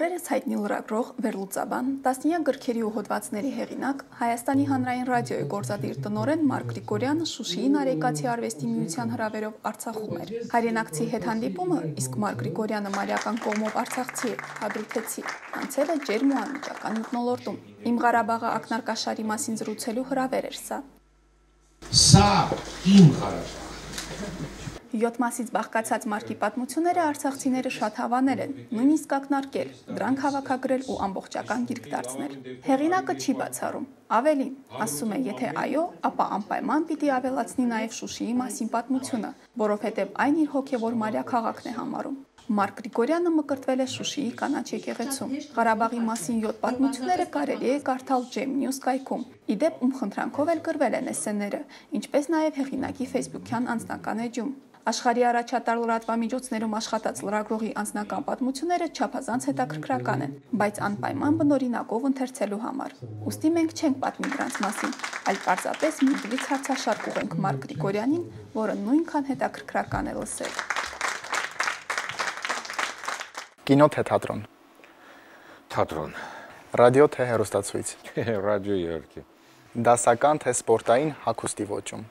Օրերս հայտնի լրագրող, վերլուծաբան, տասնյակ գրքերի ու հոդվածների հեղինակ, Հայաստանի հանրային ռադիոյի գործադիր տնօրեն Մարկ Գրիգորյանը Շուշիի Նարեկացի արվեստի միության հրավերով Արցախում էր։ Հայրենակցի հետ հանդիպումը, իսկ Մարկ Գրիգորյանը մալիական կողմով արցախցի է, հադրութեցի, անցել է ջերմ ու անմիջական մթնոլորտում։ Իմ Ղարաբաղը ակնարկաշարի մասին զրուցելու հրավեր էր սա։ Սա իմ Ղարաբաղ։ 7 մասից բաղկացած Մարկի պատմությունները արցախցիները շատ հավանել են, նույնիսկ ակնարկել, դրանք հավաքագրել ու ամբողջական գիրք դարձնել։ Հեղինակը չի բացառում, ավելին, ասում է, եթե այո, ապա անպայման պիտի ավելացնի նաև Շուշիի մասին պատմությունը, որովհետև այն իր հոգևոր մայրաքաղաքն է համարում։ Մարկ Գրիգորյանը մկրտվել է Շուշիի կանաչ եկեղեցում։ Ղարաբաղի մասին 7 պատմությունները կարելի է կարդալ Gem News կայքում։ Իդեպ ում խնդրանքով էլ գրվել են էսսեները, ինչպես նաև հեղինակի Facebook-յան անձնական էջում։ Աշխարհի առաջատար լրատվամիջոցներում աշխատած լրագրողի անձնական պատմությունները չափազանց հետաքրքրական են, բայց անպայման բնօրինակով ընթերցելու համար։ Ուստի մենք չենք պատմի դրանց մասին, այլ պարզապես մի բլից հարցաշարք ուղենք Մարկ Գրիգորյանին, որը նույնքան հետաքրքրական է լսել։ Կինո թե թատրոն։ Թատրոն։ Ռադիո թե հեռուստացույց։ Ռադիո իհարկե։ Դասական թե սպորտային հագուստի ոճում։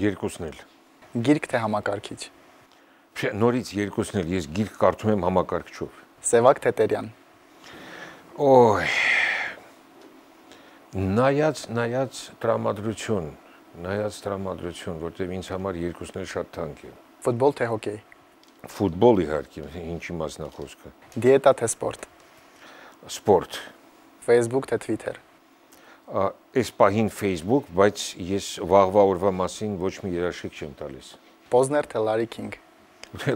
Երկուսն էլ։ Գիրք թե համակարգիչ։ Նորից երկուսն էլ, ես գիրք կարդում եմ համակարգչով։ Սևակ թե Տերյան։ Օй։ Նայած տրամադրություն, որտեղ ինձ համար երկուսն էլ շատ թանկ են։ Ֆուտբոլ թե հոկեյ։ Ֆուտբոլ իհարկե, ինչի մասն է խոսքը։ Դիետա թե սպորտ։ Սպորտ։ Facebook թե Twitter։ Այս պահին Facebook, բայց ես վաղվա օրվա մասին ոչ մի երաշխիք չեմ տալիս։ Պոզներ թե Լարի Քինգ։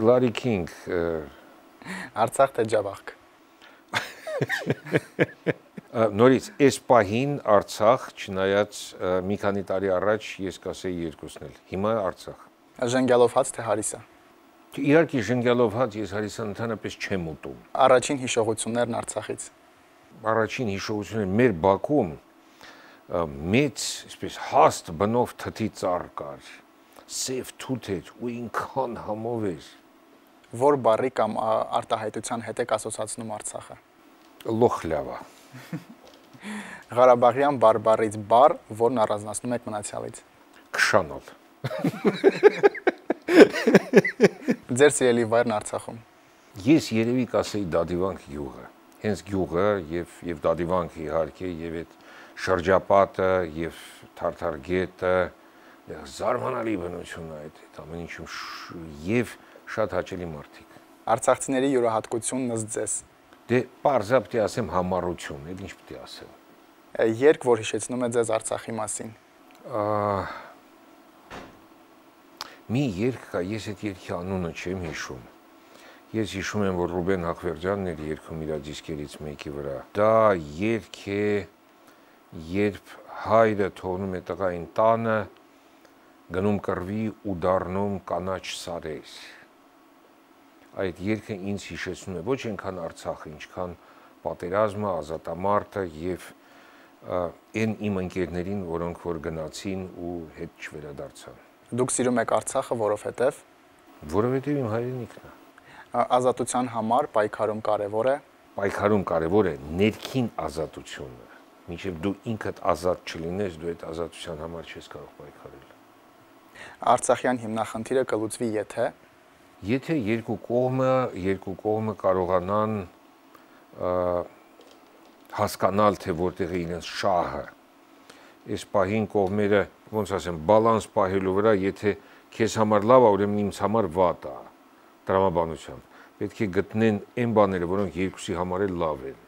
Լարի Քինգ։ Արցախ թե Ջավախք։ Նորից, այս պահին Արցախ, չնայած մի քանի տարի առաջ ես կասեի երկուսն էլ։ Հիմա Արցախ։ Ժենգյալով հաց թե հարիսա։ Իհարկե ժենգյալով հաց ես հարիսան ընդհանրապես չեմ ուտում։ Առաջին հիշողություններն Արցախից։ Առաջին հիշողությունները մեր Բաքում մեծ, այսպես հաստ բնով թթի ծառ կար, սև թութ էր ու ինքան համով էր։ Որ բառի կամ արտահայտության հետ եք ասոցացնում Արցախը։ Լոխլավա։ Ղարաբաղյան բարբառից բառ, որն առանձնացնում եք մնացյալից։ Քշանալ։ Ձեր սիրելի վայրն Արցախում։ Ես երևի կասեի Դադիվանք գյուղը։ Հենց գյուղը եւ Դադիվանքը իհարկե եւ այդ շրջապատը եւ Թարթարգետը զարմանալի բնություն է այդ ամեն ինչում եւ շատ հաճելի մարդիկ։ Արցախցիների յուրահատկությունն ըստ ձեզ։ Դե պարզա պետք է ասեմ համառություն, այդ ինչ պետք է ասեմ։ Երգ, որ հիշեցնում է ձեզ Արցախի մասին։ Մի երգ կա, ես այդ երգի անունը չեմ հիշում։ Ես հիշում եմ, որ Ռուբեն Հախվերդյանն էր երգում իր դիսկերից մեկի վրա։ Դա երգ է, երբ հայրը թողնում է տղային տանը, գնում կռվի ու դառնում կանաչ սարեր։ Այդ երգը ինձ հիշեցնում է ոչ այնքան Արցախը, ինչքան պատերազմը, ազատամարտը եւ այն իմ ընկերներին, որոնք որ գնացին ու հետ չվերադարձան։ Դուք սիրում եք Արցախը, որովհետև իմ հայրենիքն է։ Ազատության համար պայքարում կարևոր է։ Պայքարում կարևոր է ներքին ազատությունը։ Մինչև դու ինքդ ազատ չլինես, դու այդ ազատության համար չես կարող պայքարել։ Արցախյան հիմնախնդիրը կլուծվի եթե երկու կողմը կարողանան հասկանալ, թե որտեղ է իրենց շահը։ Այս պահին կողմերը, ոնց ասեմ, բալանս պահելու վրա, եթե քեզ համար լավ է, ուրեմն ինձ համար վատ է, տրամաբանությամբ։ Պետք է գտնեն այն բաները, որոնք երկուսի համար էլ լավ են։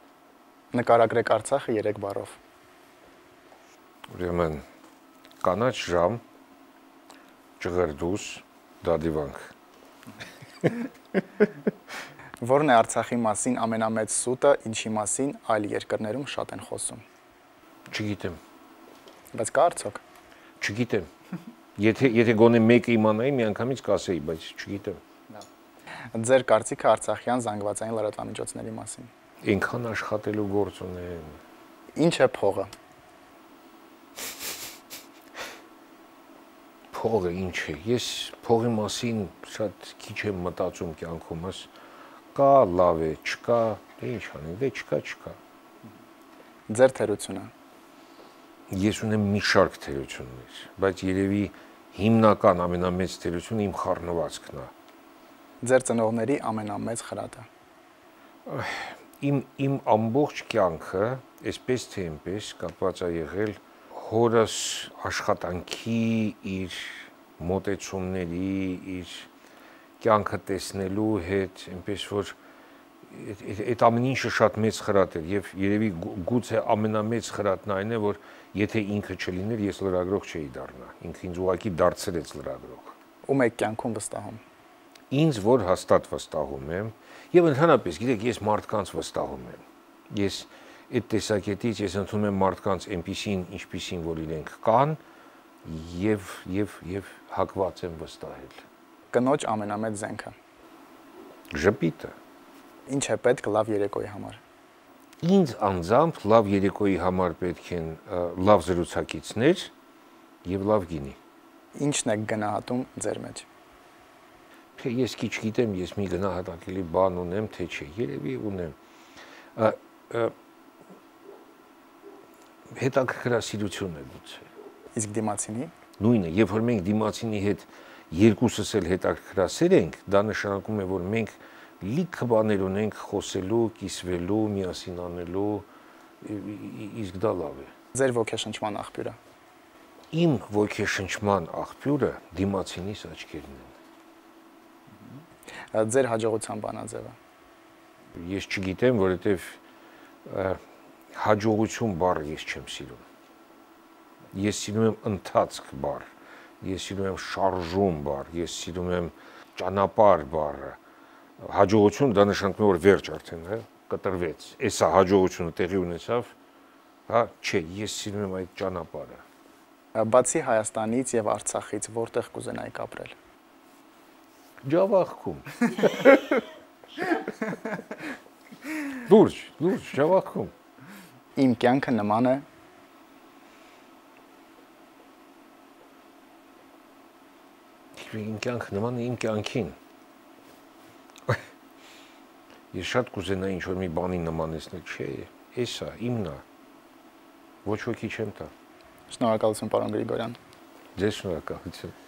Նկարագրեք Արցախը 3 բառով։ Ուրեմն կանաչ ժամ, ճղրդուս, Դադիվանք։ Որն է Արցախի մասին ամենամեծ սուտը, ինչի մասին այլ երկրներում շատ են խոսում։ Չգիտեմ։ Բայց կա արդյոք։ Չգիտեմ։ Եթե գոնե մեկը իմանայի, միանգամից կասեի, բայց չգիտեմ։ Ձեր կարծիքը արցախյան զանգվածային լրատվամիջոցների մասին։ Այնքան աշխատելու գործ ունեն։ Ինչ է փողը։ Փողը ինչ է։ Ես փողի մասին շատ քիչ եմ մտածում կյանքումս։ Կա լավ է, չկա, Դե ինչ անենք, դե չկա։ Ձեր թերությունը։ Ես ունեմ մի շարք թերություններ, բայց երևի հիմնական ամենամեծ թերությունը իմ խառնվածքն է։ Ձեր ծնողների ամենամեծ խրատը։ Իմ ամբողջ կյանքը, այսպես թե այնպես, կապված է եղել հորս աշխատանքի, իր մոտեցումների, իր կյանքը տեսնելու հետ, այնպես որ այդ ամեն ինչը շատ մեծ խրատ էր եւ երևի գուցե ամենամեծ խրատն այն է, որ եթե ինքը չլիներ, ես լրագրող չէի դառնա։ Ինքը ինձ ուղղակի դարձրեց լրագրող։ Ում եք կյանքում վստահում։ Ինձ որ հաստատ վստահում եմ եւ ընդհանրապես, գիտեք, ես մարդկանց վստահում եմ։ Ես այդ տեսակետից ես ընդունում եմ մարդկանց այնպիսին, ինչպիսին որ իրենք կան եւ հակված եմ վստահել։ Կնոջ ամենամեծ զենքը։ Ժպիտը։ Ինչ է պետք լավ երեկոյի համար։ Ինձ անձամբ լավ երեկոյի համար պետք են լավ զրուցակիցներ եւ լավ գինի։ Ինչն է գնահատում ձեր մեջ։ Ես քիչ գիտեմ, ես մի գնահատակելի բան ունեմ, թե չէ, երևի ունեմ։ Հետաքրքրասիրություն է գուցե։ Իսկ դիմացինի։ Նույնը, երբ որ մենք դիմացինի հետ երկուսս էլ հետաքրքրասեր ենք, դա նշանակում է, որ մենք լիքը բաներ ունենք խոսելու, կիսվելու, միասին անելու, իսկ դա լավ է։ Ձեր ոգեշնչման աղբյուրը։ Իմ ոգեշնչման աղբյուրը դիմացինիս աչքերն են։ Ձեր հաջողության բանաձևը։ Ես չգիտեմ, որովհետև հաջողություն բառը ես չեմ սիրում։ Ես սիրում եմ ընթացք բառ, ես սիրում եմ շարժում բառ, ես սիրում եմ ճանապարհ բառը։ Հաջողություն դա նշանակում է, որ վերջ արդեն, հա, կտրվեց։ Էսա հաջողությունը տեղի ունեցավ, հա, չէ, ես սիրում եմ այդ ճանապարհը։ Բացի Հայաստանից եւ Արցախից որտեղ կուզենայիք ապրել։ Ջավախքում։ Լուրջ, Ջավախքում։ Իմ կյանքը նման է։ Իմ կյանքը նման է իմ կյանքին։ Ես շատ կուզենայի ինչ-որ մի բանի նմանեցնել, չէ, էսա, իմն է, ոչ ոքի չեմ տա։ Շնորհակալություն, պարոն Գրիգորյան։ Ձեզ շնորհակալություն։